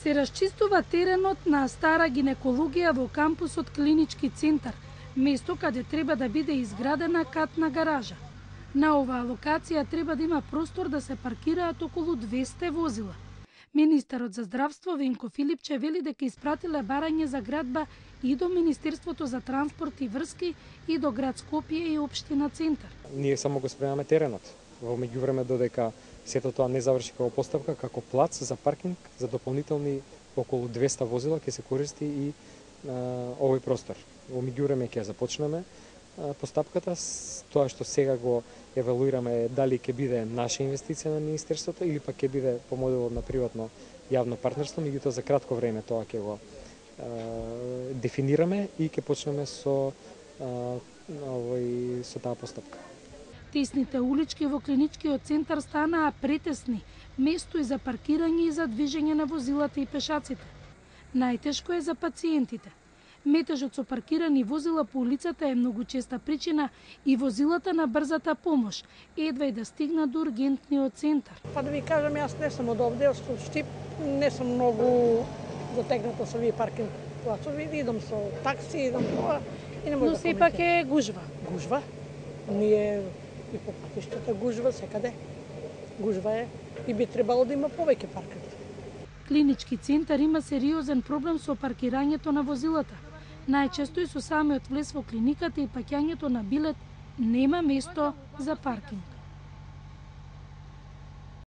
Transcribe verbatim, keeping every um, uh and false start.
Се расчистува теренот на стара гинекологија во кампусот Клинички центар, место каде треба да биде изградена катна гаража. На оваа локација треба да има простор да се паркираат околу двесте возила. Министерот за здравство Венко Филипче вели дека испратиле барање за градба и до Министерството за транспорт и врски и до град Скопје и општина Центар. Ние само го спремаме теренот. Во меѓувреме додека сето тоа не заврши како поставка, како плац за паркинг за дополнителни околу двесте возила ќе се користи и а, овој простор. Во меѓувреме ќе започнеме а, постапката, тоа што сега го евалуираме дали ќе биде наша инвестиција на Министерството или пак ќе биде по моделот на приватно јавно партнерство, меѓутоа за кратко време тоа ќе го а, дефинираме и ќе почнеме со а, овој со таа постапка. Тесните улички во Клиничкиот центар станаа претесни, место и за паркирање и за движење на возилата и пешаците. Најтешко е за пациентите. Метежот со паркирани возила по улицата е многу честа причина и возилата на брзата помош едва и да стигнат до ургентниот центар. Па да ви кажам, јас не сум од овде, од Штип, не сум многу дотегната со овие паркинг плацови, идам со такси, идам тоа и не може да. Но сепак е гужва. Гужва? Ние и по патиштата гужва секаде. Гужва е и би требало да има повеќе паркинг. Клинички центар има сериозен проблем со паркирањето на возилата. Најчесто и со самиот влез во клиниката и паќањето на билет нема место за паркинг.